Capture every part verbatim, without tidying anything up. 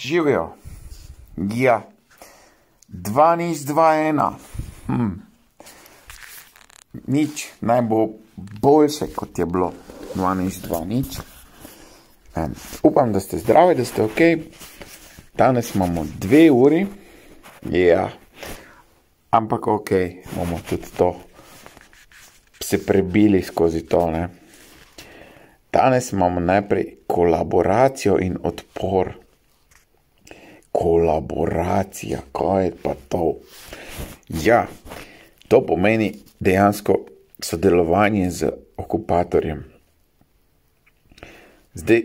Živijo. Ja. Dva nič, dva ena. Hm. Nič naj bo boljše, kot je bilo. Dva nič, dva nič. Um, upam, da ste zdravi, da ste ok. Danes imamo dve uri. Ja. Ampak ok, bomo tudi to se prebili skozi to, ne. Danes imamo najprej kolaboracijo in odpor. Kolaboracija, kaj je pa to? Ja, to pomeni dejansko sodelovanje z okupatorjem. Zdaj,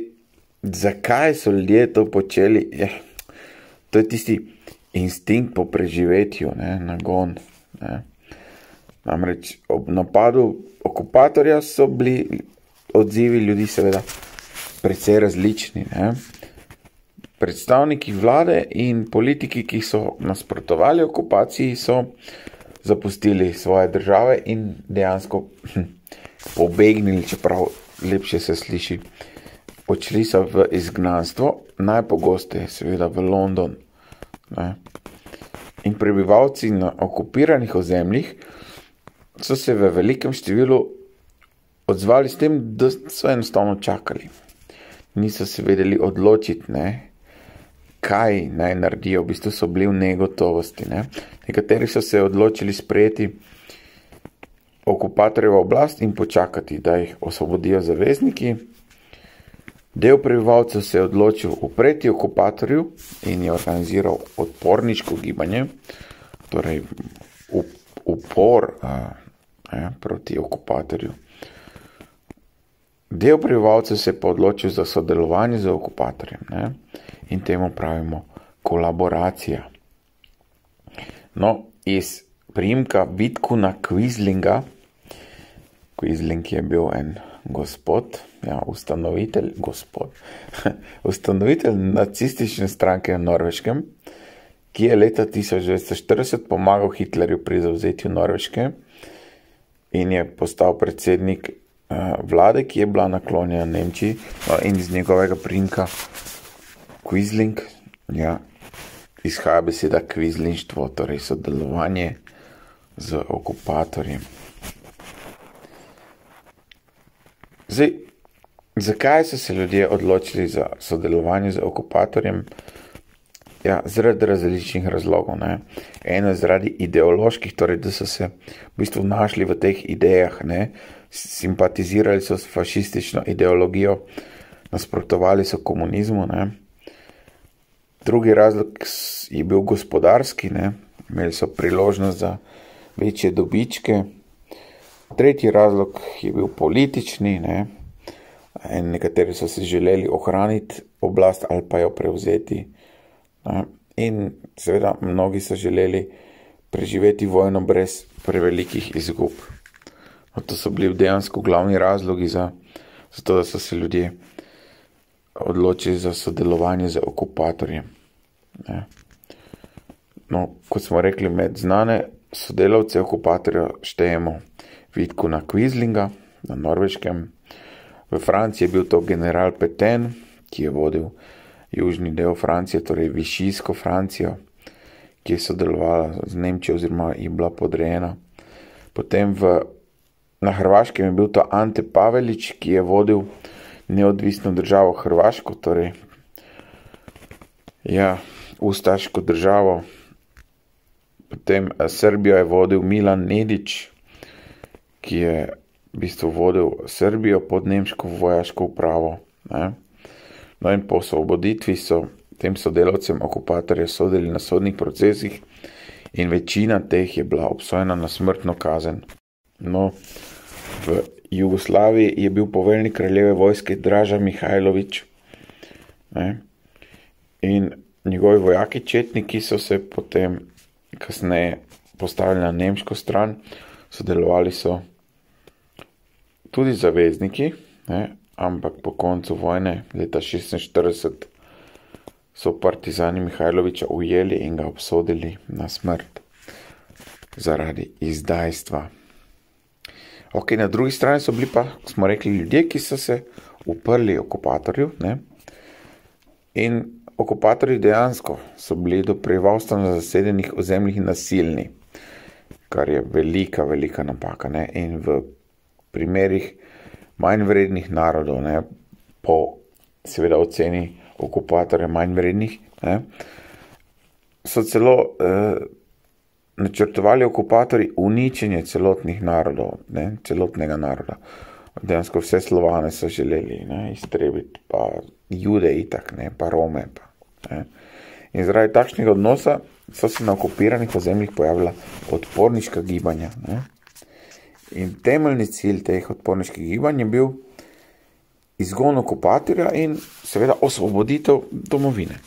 zakaj so ljudje to počeli? Ja, to je tisti instinkt po preživetju, ne, nagon. Ne. Namreč ob napadu okupatorja so bili odzivi ljudi seveda precej različni, ne. Predstavniki vlade in politiki, ki so nasprotovali okupaciji, so zapustili svoje države in dejansko hm, pobegnili, čeprav lepše se sliši. Odšli so v izgnanstvo, najpogosteje seveda v London. Ne. In prebivalci na okupiranih ozemljih so se v velikem številu odzvali s tem, da so enostavno čakali. Niso se vedeli odločiti, ne, kaj naj naredijo, v bistvu so bili v negotovosti, ne. Nekateri so se odločili sprejeti okupatorjevo oblast in počakati, da jih osvobodijo zavezniki. Del prebivalcev se je odločil upreti okupatorju in je organiziral odporniško gibanje, torej upor a, a, proti okupatorju. Del prebivalcev se je pa odločil za sodelovanje z okupatorjem, ne, in temu pravimo kolaboracija. No, iz priimka Vidkuna Quislinga, Quisling je bil en gospod, ja, ustanovitelj, gospod, ustanovitelj nacistične stranke na Norveškem, ki je leta tisoč devetsto štirideset pomagal Hitlerju pri zavzetju Norveške in je postal predsednik uh, vlade, ki je bila naklonjena Nemčiji, no, in iz njegovega priimka Quisling, ja, izhaja beseda kvislingštvo, torej sodelovanje z okupatorjem. Zdaj, zakaj so se ljudje odločili za sodelovanje z okupatorjem? Ja, zaradi različnih razlogov, ne. Eno zaradi ideoloških, torej, da so se v bistvu našli v teh idejah, ne. Simpatizirali so s fašistično ideologijo, nasprotovali so komunizmu, ne. Drugi razlog je bil gospodarski, ne. Imeli so priložnost za večje dobičke. Tretji razlog je bil politični, ne. In nekateri so se želeli ohraniti oblast ali pa jo prevzeti. Ne. In seveda mnogi so želeli preživeti vojno brez prevelikih izgub. No, to so bili dejansko glavni razlogi za, za to, da so se ljudje odločili za sodelovanje z okupatorjem. Ne. No, kot smo rekli, med znane sodelavce okupatorja štejemo Vidkuna Quislinga na Norveškem. V Franciji je bil to general Pétain, ki je vodil južni del Francije, torej Višijsko Francijo, ki je sodelovala z Nemčijo oziroma je bila podrejena. Potem v, na Hrvaškem je bil to Ante Pavelić, ki je vodil neodvisno državo Hrvaško, torej ja, ustaško državo. Potem Srbijo je vodil Milan Nedić, ki je v bistvu vodil Srbijo pod nemško vojaško upravo, ne. No, in po osvoboditvi so tem sodelavcem okupatorja sodili na sodnih procesih in večina teh je bila obsojena na smrtno kazen. No, v Jugoslaviji je bil poveljnik kraljeve vojske Draža Mihajlović, ne. In njegovi vojaki četniki so se potem kasneje postavili na nemško stran, sodelovali so tudi zavezniki, ne, ampak po koncu vojne leta šestinštirideset so partizani Mihajlovića ujeli in ga obsodili na smrt zaradi izdajstva. Ok, na drugi strani so bili pa, smo rekli, ljudje, ki so se uprli okupatorju, ne, in okupatorji dejansko so bili do prebivalstva na zasedenih ozemljih nasilni, kar je velika, velika napaka. Ne? In v primerih manj vrednih narodov, ne? Po seveda oceni okupatorja manj vrednih, ne? So celo eh, načrtovali okupatorji uničenje celotnih narodov, ne? Celotnega naroda. Dejansko vse Slovane so želeli, ne? Iztrebiti, pa Jude itak, ne? Pa Rome. Pa, ne? In zaradi takšnega odnosa so se na okupiranih ozemljih pojavila odporniška gibanja. Ne? In temeljni cilj teh odporniških gibanj je bil izgon okupatorja in seveda osvoboditev domovine.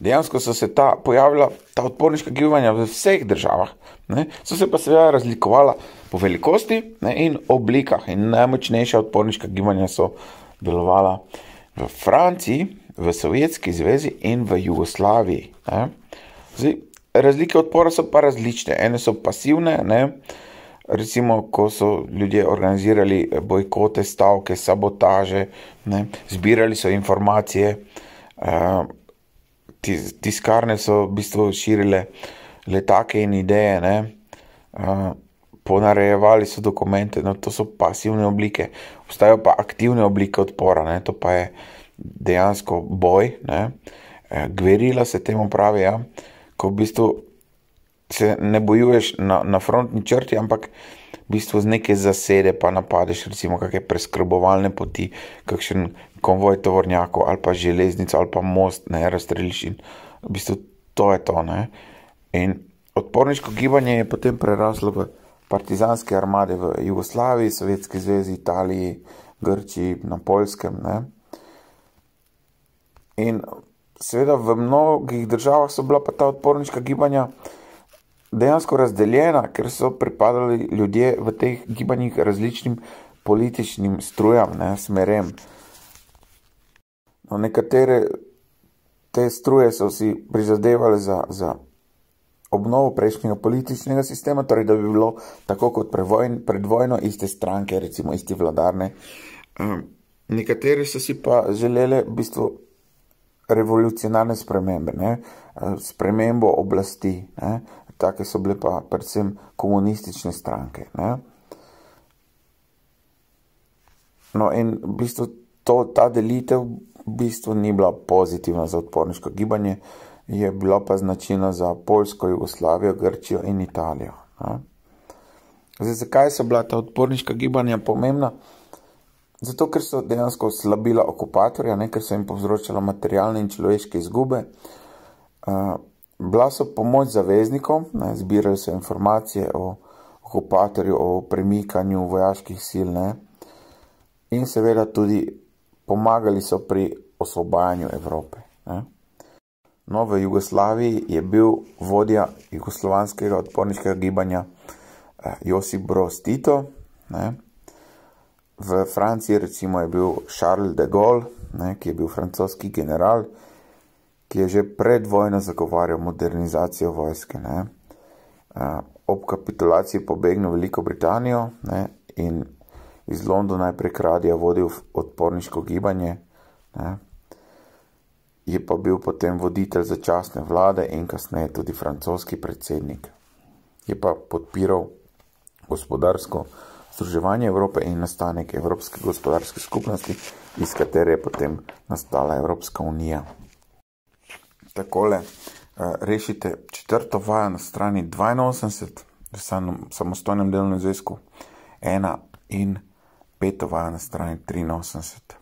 Dejansko so se ta pojavila ta odporniška gibanja v vseh državah, ne? So se pa seveda razlikovala po velikosti, ne? In oblikah. In najmočnejša odporniška gibanja so delovala v Franciji, v Sovjetski zvezi in v Jugoslaviji. Ne? Zdaj, razlike odpora so pa različne. Ene so pasivne, ne? Recimo, ko so ljudje organizirali bojkote, stavke, sabotaže, ne? Zbirali so informacije, uh, tiskarne so v bistvu širile letake in ideje, ne? Uh, ponarejevali so dokumente, no, to so pasivne oblike. Obstajajo pa aktivne oblike odpora, ne? To pa je dejansko boj, ne? Gverila se temu pravi, ja? Ko v bistvu se ne bojuješ na, na frontni črti, ampak v bistvu z neke zasede pa napadeš, recimo kakšne preskrbovalne poti, kakšen konvoj tovornjakov ali pa železnico ali pa most, ne, razstreliš in v bistvu to je to, ne. In odporniško gibanje je potem preraslo v partizanske armade v Jugoslaviji, Sovjetski zvezi, Italiji, Grčiji, na Poljskem, ne. In seveda v mnogih državah so bila pa ta odporniška gibanja dejansko razdeljena, ker so pripadali ljudje v teh gibanjih različnim političnim strujam, ne, smerem. No, nekatere te struje so si prizadevali za, za obnovo prejšnjega političnega sistema, torej da bi bilo tako kot pred vojno iste stranke, recimo isti vladarne. Nekatere so si pa želeli v bistvu revolucionarne spremembe, ne, spremembo oblasti, ne. Take so bile pa predvsem komunistične stranke. Ne? No in v bistvu to, ta delitev v bistvu ni bila pozitivna za odporniško gibanje, je bila pa značilna za Poljsko, Jugoslavijo, Grčijo in Italijo. Ne? Zdaj, zakaj so bila ta odporniška gibanja pomembna? Zato, ker so dejansko slabila okupatorja, ne? Ker so jim povzročala materialne in človeške izgube. Uh, Bila so pomoč zaveznikom, ne, zbirali so informacije o okupatorju, o premikanju vojaških sil, ne, in seveda tudi pomagali so pri osvobajanju Evrope. Ne. No, v Jugoslaviji je bil vodja jugoslovanskega odporniškega gibanja eh, Josip Broz Tito, ne. V Franciji recimo je bil Charles de Gaulle, ne, ki je bil francoski general, ki je že pred vojno zagovarjal modernizacijo vojske, ne. Ob kapitulaciji pobegnil v Veliko Britanijo, ne, in iz Londona je prek radija vodil odporniško gibanje, ne. Je pa bil potem voditelj začasne vlade in kasneje tudi francoski predsednik. Je pa podpiral gospodarsko združevanje Evrope in nastanek Evropske gospodarske skupnosti, iz katere je potem nastala Evropska unija. Takole rešite četrto vajo na strani dvainosemdeset v samostojnem delovnem zvezku ena in peto vajo na strani triinosemdeset.